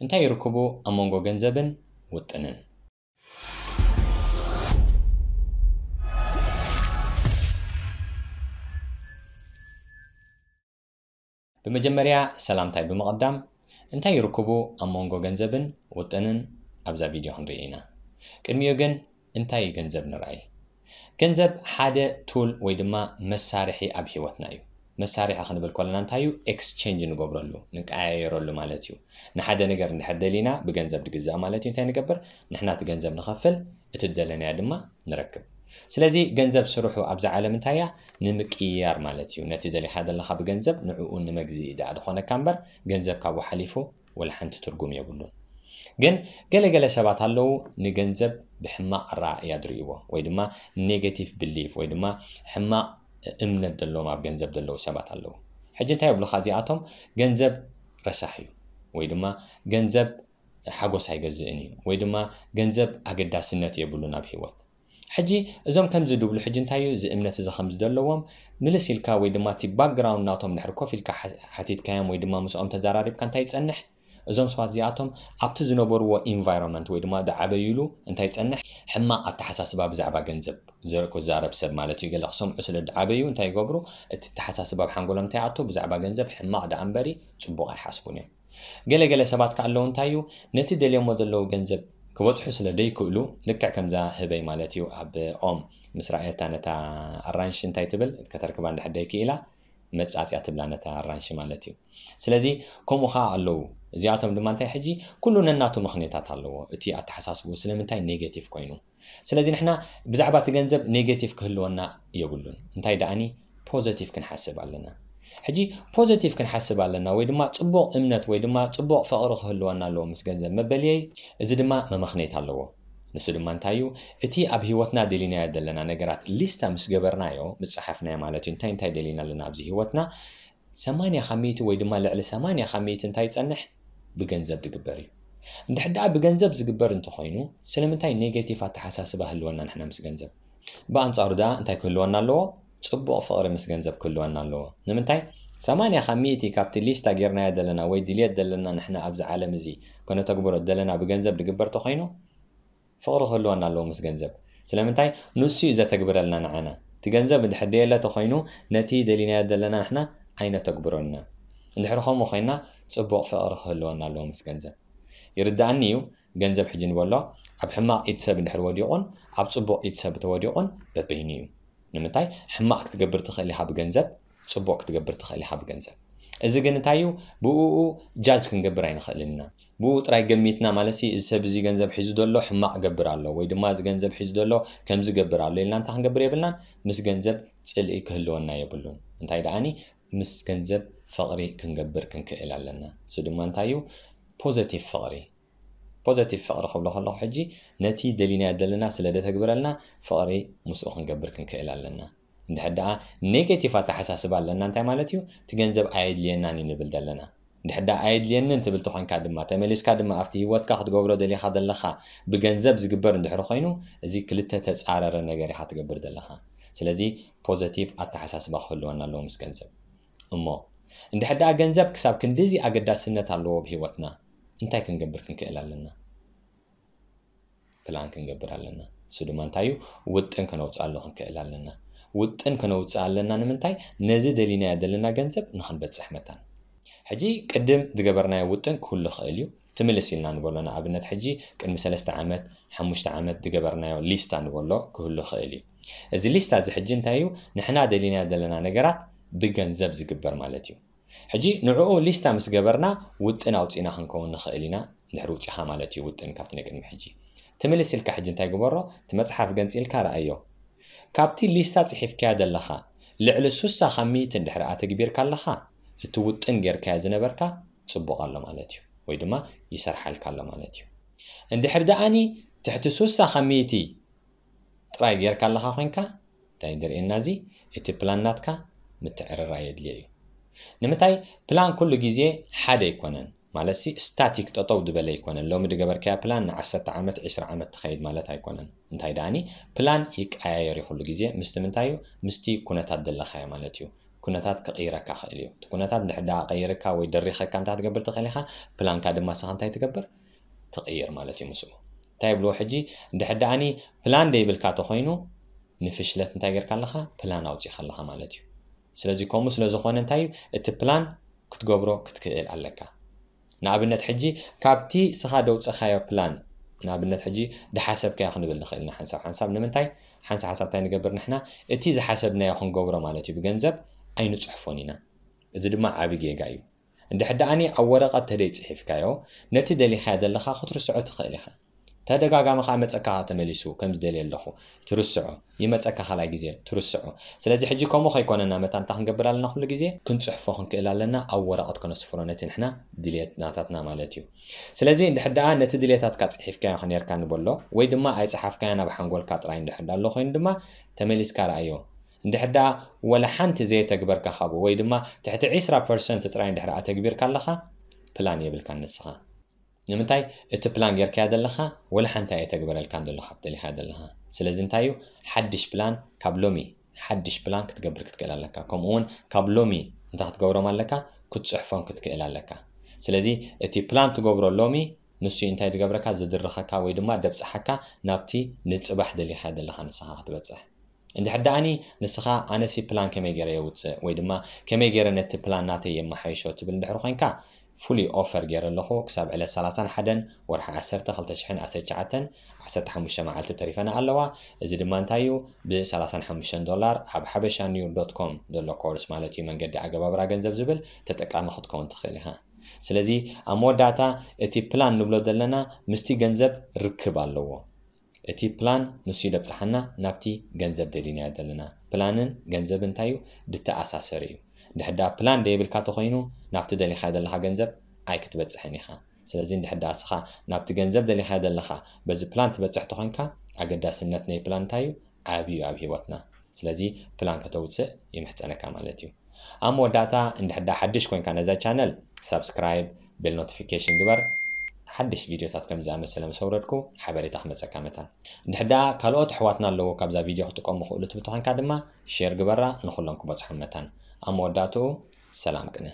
እንታይ ይርክቡ ኣብ መንጎ ገንዘብን ውጥንን? ብመጀመርያ ሰላምታይ ብምቕዳም፣ እንታይ ይርክቡ ኣብ መንጎ ገንዘብን ውጥንን ኣብዛ ቪድዮ ክንርኢ ኢና። ቅድሚኡ ግን እንታይ እዩ ገንዘብ ንርኣይ። ገንዘብ ሓደ ቱል ወይ ድማ መሳርሒ ኣብ ህይወትና እዩ። መሳርሒ ክንብል ከለና እንታይ እዩ? ኤክስቼንጅ ንገብረሉ፣ ንቀያየረሉ ማለት እዩ። ንሓደ ነገር እንድሕር ደሊና ብገንዘብ ድግዛእ ማለት እዩ። እንታይ ንገብር? ንሕና እቲ ገንዘብ ንኸፍል፣ እቲ ደለናዮ ድማ ንረክብ። ስለዚ ገንዘብ ስርሑ ኣብዛ ዓለም እንታይ እያ? ንምቅያር ማለት እዩ። ነቲ ደሊኻ ዘለኻ ብገንዘብ ንዕኡ ንመግዝኢ ደኣ ዝኾነካ እምበር ገንዘብ ካብኡ ሓሊፉ ወላ ሓንቲ ትርጉም የብሉን። ግን ገለገለ ሰባት ኣለዉ ንገንዘብ ብሕማቕ ኣረኣእያ ዝርእይዎ ወይ ድማ ኔጌቲቭ ብሊፍ ወይ ድማ ሕማቕ እምነት ዘለዎም ኣብ ገንዘብ ዘለዉ ሰባት ኣለዉ። ሕጂ እንታይ የብሉኻ እዚኣቶም? ገንዘብ ረሳሕ እዩ ወይ ድማ ገንዘብ ሓጎስ ኣይገዝእን እዩ ወይ ድማ ገንዘብ ኣገዳስነት የብሉን ኣብ ህይወት። ሕጂ እዞም ከምዚ ድብሉ ሕጂ እንታይ እዩ እዚ እምነት እዚ ከምዚ ዘለዎም ምልስ ኢልካ ወይ ድማ እቲ ባክግራውንድ ናቶም ድሕሪ ኮፍ ኢልካ ሓ- ሓቲትካዮም ወይ ድማ ምስኦም ተዘራሪብካ እንታይ ይጸንሕ? እዞም ሰባት እዚኣቶም ኣብቲ ዝነበርዎ ኢንቫይሮንመንት ወይ ድማ ዝዓበይሉ እንታይ ይጸንሕ? ሕማቕ ኣተሓሳስባ ብዛዕባ ገንዘብ ዘ- ክዛረብ ሰብ ማለት እዩ። ገለ ክሰምዑ ስለ ዝዓበዩ እንታይ ይገብሩ? እቲ ኣተሓሳስባ ኣብ ሓንጎሎም እንታይ ይኣቱ? ብዛዕባ ገንዘብ ሕማቕ ደኣ እምበሪ ጽቡቕ ኣይሓስቡን እዮም። ገለገለ ሰባት ከ ኣለዉ እንታይ እዩ? ነቲ ደልዮሞ ዘለዉ ገንዘብ ክበጽሑ ስለ ደይክእሉ፣ ልክዕ ከምዛ ህበይ ማለት እዩ ኣብ ኦም ምስ ረኣየታ ነታ ኣራንሺ እንታይ ትብል? ከተርክባ እንድሕር ደይክኢላ መጻጽያ ትብላ ነታ ኣራንሺ ማለት እዩ። ስለዚ ከምኡ ከኣ ኣለዉ። እዚኣቶም ድማ እንታይ ሕጂ ኩሉ ነናቱ ምኽንያታት ኣለዎ። እቲ ኣተሓሳስብኡ ስለምንታይ ኔጌቲቭ ኮይኑ። ስለዚ ንሕና ብዛዕባ እቲ ገንዘብ ኔጌቲቭ ክህልወና የብሉን። እንታይ ደኣኒ ፖዘቲቭ ክንሓስብ ኣለና። ሕጂ ፖዘቲቭ ክንሓስብ ኣለና ወይ ድማ ጽቡቕ እምነት ወይ ድማ ጽቡቕ ፍቕሪ ክህልወና ኣለዎ ምስ ገንዘብ መበልየይ። እዚ ድማ መመኽነይታ ኣለዎ። ንሱ ድማ እንታይ እዩ? እቲ ኣብ ህይወትና ደሊናዮ ዘለና ነገራት ሊስታ ምስ ገበርናዮ፣ ምስ ጸሓፍናዮ ማለት እዩ። እንታይ እንታይ ደሊና ኣለና ኣብዚ ህይወትና? ሰማንያ ካብ ሚእቲ ወይ ድማ ልዕሊ ሰማንያ ካብ ሚእቲ እንታይ ይጸንሕ? ብገንዘብ ዝግበር እዩ። እንድሕር ደኣ ብገንዘብ ዝግበር እንተኾይኑ፣ ስለምንታይ ኔጌቲቭ ኣተሓሳስባ ህልወና ንሕና ምስ ገንዘብ? ብኣንጻሩ ደኣ እንታይ ክህልወና ኣለዎ? ጽቡቕ ፍቕሪ ምስ ገንዘብ ክህልወና ኣለዎ። ንምንታይ? ሰማንያ ካብ ሚእቲ ካብቲ ሊስታ ጌርናዮ ዘለና ወይ ድልየት ዘለና ንሕና ኣብዚ ዓለም እዚ ከነተግብሮ ዘለና ብገንዘብ ዝግበር ተኾይኑ፣ ፍቕሪ ክህልወና ኣለዎ ምስ ገንዘብ። ስለምንታይ? ንሱ እዩ ዘተግብረልና ንዓና። እቲ ገንዘብ እንድሕር ደየለ ተኾይኑ፣ ነቲ ደሊናዮ ዘለና ንሕና ኣይነተግብሮን ኢና። እንድሕር ከምኡ ኮይና፣ ጽቡቕ ፍቕሪ ክህልወና ኣለዎ ምስ ገንዘብ። ይርድኣኒ እዩ፣ ገንዘብ ሕጂ ንበሎ፣ ኣብ ሕማቕ ኢድ ሰብ እንድሕር ወዲቑን ኣብ ጽቡቕ ኢድ ሰብ ተወዲቑን በበይኑ እዩ። ንምንታይ? ሕማቕ ክትገብር ትኽእል ኢኻ ብገንዘብ፣ ጽቡቕ ክትገብር ትኽእል ኢኻ ብገንዘብ። እዚ ግን እንታይ እዩ? ብእኡ ጃጅ ክንገብር ኣይንኽእልን ኢና። ብኡ ጥራይ ገሚትና ማለት ሲ፣ እዚ ሰብ እዚ ገንዘብ ሒዙ ዘሎ ሕማቕ ገብር ኣሎ ወይ ድማ እዚ ገንዘብ ሒዙ ዘሎ ከምዚ ገብር ኣሎ ኢልና እንታይ ክንገብር የብልናን። ምስ ገንዘብ ጽልኢ ክህልወና የብሉን። እንታይ ደኣኒ ምስ ገንዘብ ፍቕሪ ክንገብር ክንክእል ኣለና። እሱ ድማ እንታይ እዩ? ፖዘቲቭ ፍቕሪ። ፖዘቲቭ ፍቕሪ ክብሎ ከለኹ ሕጂ ነቲ ደሊናዮ ዘለና ስለ ደተግብረልና ፍቕሪ ምስኡ ክንገብር ክንክእል ኣለና። እንድሕር ደኣ ኔጌቲቭ ኣተሓሳስባ ኣለና እንታይ ማለት እዩ? እቲ ገንዘብ ኣየድልየናን እዩ ንብል ዘለና። እንድሕር ደኣ ኣየድልየንን ትብል ተኾንካ ድማ ተመሊስካ ድማ ኣብቲ ህይወትካ ክትገብሮ ደሊኻ ዘለኻ ብገንዘብ ዝግበር እንድሕር ኮይኑ እዚ ክልተ ተጻረረ ነገር ኢኻ ትገብር ዘለኻ። ስለዚ ፖዘቲቭ ኣተሓሳስባ ክህልወና ኣለዎ ምስ ገንዘብ። እሞ እንድሕር ደኣ ገንዘብ ክሳብ ክንድዚ ኣገዳስነት ኣለዎ ኣብ ህይወትና እንታይ ክንገብር ክንክእል ኣለና? ፕላን ክንገብር ኣለና። እሱ ድማ እንታይ እዩ? ውጥን ከነውፅኣሉ ክንክእል ኣለና። ውጥን ከነውፅእ ኣለና ንምንታይ? ነዚ ደሊናዮ ዘለና ገንዘብ ንክንበፅሕ መታን። ሕጂ ቅድም ዝገበርናዮ ውጥን ክህሉ ይኽእል እዩ። ትምልስ ኢልና ንበሎ ንኣብነት ሕጂ ቅድሚ ሰለስተ ዓመት ሓሙሽተ ዓመት ዝገበርናዮ ሊስታ ንበሎ ክህሉ ይኽእል እዩ። እዚ ሊስታ እዚ ሕጂ እንታይ እዩ? ንሕና ደሊናዮ ዘለና ነገራት ብገንዘብ ዝግበር ማለት እዩ። ሕጂ ንዕኡ ሊስታ ምስ ገበርና ውጥን ኣውፂእና ክንከውን ንኽእል ኢና። እንድሕር ውፂኻ ማለት እዩ ውጥን ካብቲ ናይ ቅድሚ ሕጂ። ትምልስ ኢልካ ሕጂ እንታይ ግበሮ? እቲ መፅሓፍ ገንፂ ኢልካ ረኣዮ። ካብቲ ሊስታ ፅሒፍካያ ዘለኻ ልዕሊ ሱሳ ካብ ሚእቲ እንድሕር ኣተግቢርካ ኣለኻ እቲ ውጥን ጌርካዮ ዝነበርካ ፅቡቕ ኣሎ ማለት እዩ ወይ ድማ ይሰርሓልካ ኣሎ ማለት እዩ። እንድሕር ደኣኒ ትሕቲ ሱሳ ካብ ሚእቲ ጥራይ ጌርካ ኣለኻ ኮይንካ እንታይ ድርእየና እዚ እቲ ፕላን ናትካ ምትዕርራይ የድልዮ እዩ። ንምንታይ ፕላን ኩሉ ግዜ ሓደ ኣይኮነን ማለት ሲ ስታቲክ ጠጠው ዝበለ ኣይኮነን። ሎሚ ድገበርካያ ፕላን ንዓሰርተ ዓመት ዒስራ ዓመት ትኸይድ ማለት ኣይኮነን። እንታይ ደኣኒ ፕላን ይቀያየር እዩ ኩሉ ግዜ ምስቲ ምንታይ እዩ ምስቲ ኩነታት ዘለኻዮ ማለት እዩ። ኩነታት ክቕይረካ ክእል እዩ። እቲ ኩነታት እንድሕር ደኣ ቀይርካ ወይ ደሪኸካ እንታይ ትገብር ትኽእል ኢኻ? ፕላንካ ድማ ንስኻ እንታይ ትገብር? ትቕይር ማለት እዩ ምስኡ። እንታይ ይብልዎ ሕጂ? እንድሕር ደኣኒ ፕላን ደይብልካ ተኾይኑ ንፍሽለት እንታይ ጌርካ ኣለኻ? ፕላን ኣውጺእካ ኣለኻ ማለት እዩ። ስለዚ ከምኡ ስለ ዝኾነ እንታይ እዩ? እቲ ፕላን ክትገብሮ ክትክእል ኣለካ። ንኣብነት ሕጂ ካብቲ ስኻ ደውፀኻዮ ፕላን ንኣብነት ሕጂ ድሓሰብካዮ ክንብል ንኽእል ኢና ሓንሳብ ሓንሳብ ንምንታይ ሓንሳብ ሓንሳብ እንታይ ንገብር ንሕና እቲ ዝሓሰብናዮ ክንገብሮ ማለት እዩ ብገንዘብ ኣይንፅሕፎን ኢና። እዚ ድማ ዓቢ ጌጋ እዩ። እንድሕር ደኣኒ ኣብ ወረቐት ተደይ ጽሒፍካዮ ነቲ ደሊኻዮ ዘለኻ ክትርስዖ ትኽእል ኢኻ። ተደጋጋሚ ከዓ መጸካ ተመሊሱ ከም ዝደልየ ኣለኹ ትርስዖ ይመጸካ ካልኣይ ግዜ ትርስዖ። ስለዚ ሕጂ ከምኡ ከይኮነና መታን እንታይ ክንገብር ኣለና ኩሉ ግዜ ክንጽሕፎ ክንክእል ኣለና ኣብ ወረቐት ከነስፍሮ ነቲ ንሕና ድልየት ናታትና ማለት እዩ። ስለዚ እንድሕር ደኣ ነቲ ድልየታትካ ጽሒፍካዮ ከኔርካ ንበሎ ወይ ድማ ኣይጸሓፍካዮ ናብ ሓንጎልካ ጥራይ እንድሕር ደኣ ኣሎ ኮይኑ ድማ ተመሊስካ ረኣዮ። እንድሕር ደኣ ወላ ሓንቲ ዘየተግበርካ ካብኡ ወይ ድማ ትሕቲ ዒስራ ፐርሰንት ጥራይ እንድሕር ኣተግቢርካ ኣለኻ ፕላን የብልካን ንስኻ። ንምንታይ እቲ ፕላን ጌርካዮ ዘለኻ ወላ ሓንቲ ኣየተግበረልካን ዘሎ ካብ ደሊኻዮ ዘለኻ። ስለዚ እንታይ እዩ ሓድሽ ፕላን ካብ ሎሚ ሓድሽ ፕላን ክትገብር ክትክእል ኣለካ። ከምኡ እውን ካብ ሎሚ እንታይ ክትገብሮም ኣለካ ክትፅሕፎም ክትክእል ኣለካ። ስለዚ እቲ ፕላን ትገብሮ ሎሚ ንሱ እንታይ ዝገብረካ ዝድርኸካ ወይ ድማ ደብፅሓካ ናብቲ ንፅባሕ ደሊኻዮ ዘለኻ ንስኻ ክትበፅሕ። እንድሕር ደኣኒ ንስኻ ኣነሲ ፕላን ከመይ ገይረ የውፅእ ወይ ድማ ከመይ ገይረ ነቲ ፕላን ናተይ የመሓይሾ ትብል እንድሕር ኮይንካ ፍሉይ ኦፈር ገይረ ኣለኹ ክሳብ ዕለት ሰላሳን ሓደን ወርሒ ዓሰርተ ክልተ ሽሕን ዓሰርተ ትሽዓተን ዓሰርተ ሓሙሽተ መዓልቲ ተሪፈና ኣለዋ። እዚ ድማ እንታይ እዩ ብ ሰላሳን ሓሙሽተን ዶላር ኣብ ሓበሻ ኒው ዶት ኮም ዘሎ ኮርስ ማለት እዩ መንገዲ ኣገባብራ ገንዘብ ዝብል ተጠቃሚ ክትከውን ትኽእል ኢኻ። ስለዚ ኣብ መወዳእታ እቲ ፕላን ንብሎ ዘለና ምስቲ ገንዘብ ርክብ ኣለዎ። እቲ ፕላን ንሱ እዩ ደብፅሓና ናብቲ ገንዘብ ደሊናዮ ዘለና። ፕላንን ገንዘብ እንታይ እዩ ድተኣሳሰር እዩ። እንድሕዳ ፕላን ደይብልካ ተኮይኑ ናብቲ ደሊኻዮ ዘለካ ገንዘብ ኣይክትበፅሕን ኢኻ። ስለዚ እንድሕዳ እስኻ ናብቲ ገንዘብ ደሊኻዮ ዘለካ በዚ ፕላን ትበፅሕ ተኮይንካ ኣገዳስነት ናይ ፕላን እንታይ እዩ ዓብዩ ኣብ ህይወትና። ስለዚ ፕላን ከተውፅእ ይምሕፀነካ ማለት እዩ። ኣብ መወዳእታ እንድሕዳ ሓድሽ ኮይንካ ነዛ ቻነል ሳብስክራይብ ቤል ኖቲፊኬሽን ግበር። ሓድሽ ቪድዮታት ከም ዝኣመሰለ ምስ ኣውረድኩ ሓበሬታ ክመፀካ መታን። እንድሕር ደኣ ካልኦት ኣሕዋትና ኣለዎ ካብዛ ቪድዮ ክጥቀሙ ክእሉ ትብል ተኾንካ ድማ ሼር ግበራ ንኩሎም ክበፅሖም መታን። ኣብ መወዳእትኡ ሰላም ቅነ።